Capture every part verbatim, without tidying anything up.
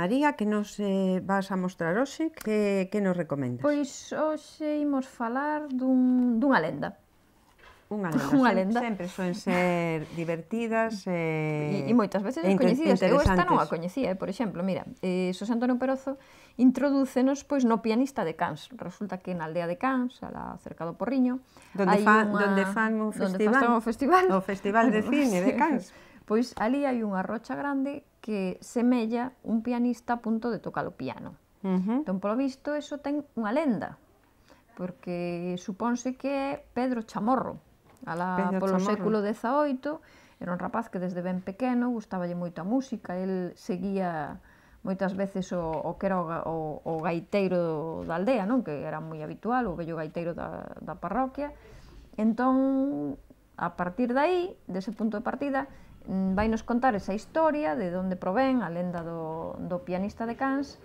María, que nos eh, vas a mostrar hoxe, que, que nos recomendas? Pois hoxe imos falar dun, dunha lenda. Unha lenda, Unha Sem, lenda. sempre soen ser divertidas E, e, e moitas veces e descoñecidas. Eu esta non a interesantes. coñecía, eh? Por exemplo, mira, eh, Xosé Antonio Perozo introdúcenos pois no pianista de Cans. Resulta que na aldea de Cans, alá cerca do Porriño, Donde, hai fa, unha... donde fan un festival, Donde fan o festival. o festival de cine de Cans. Pois ali hai unha rocha grande que semella un pianista a punto de tocar o piano. Uh -huh. Entón, polo visto, eso ten unha lenda, porque supónse que é Pedro Chamorro, alá Pedro polo Chamorro. século dezaoito, era un rapaz que desde ben pequeno gustaballe moito a música, el seguía moitas veces o, o que era o, o, o gaiteiro da aldea, non? Que era moi habitual, o vello gaiteiro da, da parroquia. Entón, a partir de aí, dese punto de partida, vai nos contar esa historia de onde provén a lenda do, do pianista de Cans,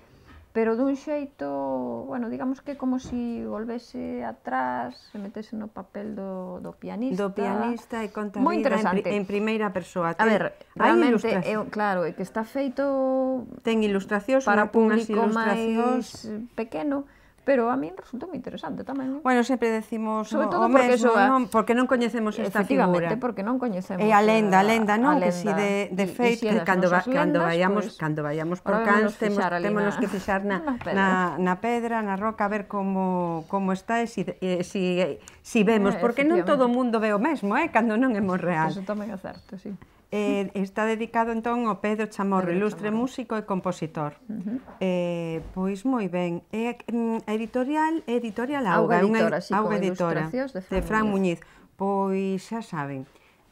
pero dun xeito, bueno, digamos que como si volvese atrás, se metese no papel do, do pianista. Do pianista e conta moi vida interesante. en, en primeira persoa. A ver, realmente, é, claro, é que está feito ten ilustracións para público máis pequeno, pero a min resultou moi interesante tamén. Bueno, sempre decimos sobre o todo porque mesmo, eso, non? Porque non coñecemos esta figura. Porque non coñecemos. E a lenda, a lenda, non? A que si de, de e, feito, e si cando, va, cando, lendas, vayamos, pues, cando vayamos por Cans, temos, temos que fixar na, na, na, na pedra, na roca, a ver como, como está e si, e, si, si vemos, eh, porque non todo o mundo ve o mesmo, eh? Cando non é moi real. Eso tamén é certo, sí. Eh, está dedicado entón ao Pedro Chamorro, Pedro ilustre Chamorro. músico e compositor. Uh -huh. eh, pois moi ben. É eh, editorial, editorial Auga, Auga editora, sí, Auga con editora ilustracións de Fran, de Fran Muñiz. Muñiz. Pois xa saben,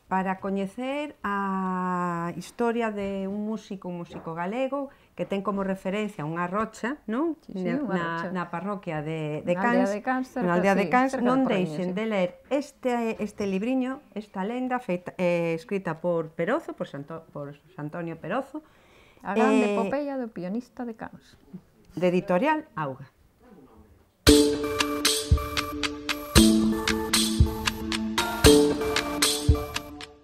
para coñecer a historia de un músico, un músico galego que ten como referencia unha rocha, non? Sí, sí, na, unha rocha. na parroquia de, de Na Cans, aldea de Cans, cerca, na aldea de sí, Cans, cerca non do Porriño, deixen sí. de ler este, este libriño, esta lenda feita, eh, escrita por Perozo, por, Santo, por Antonio Perozo, A grande eh, epopeia do pianista de Cans. de editorial Auga.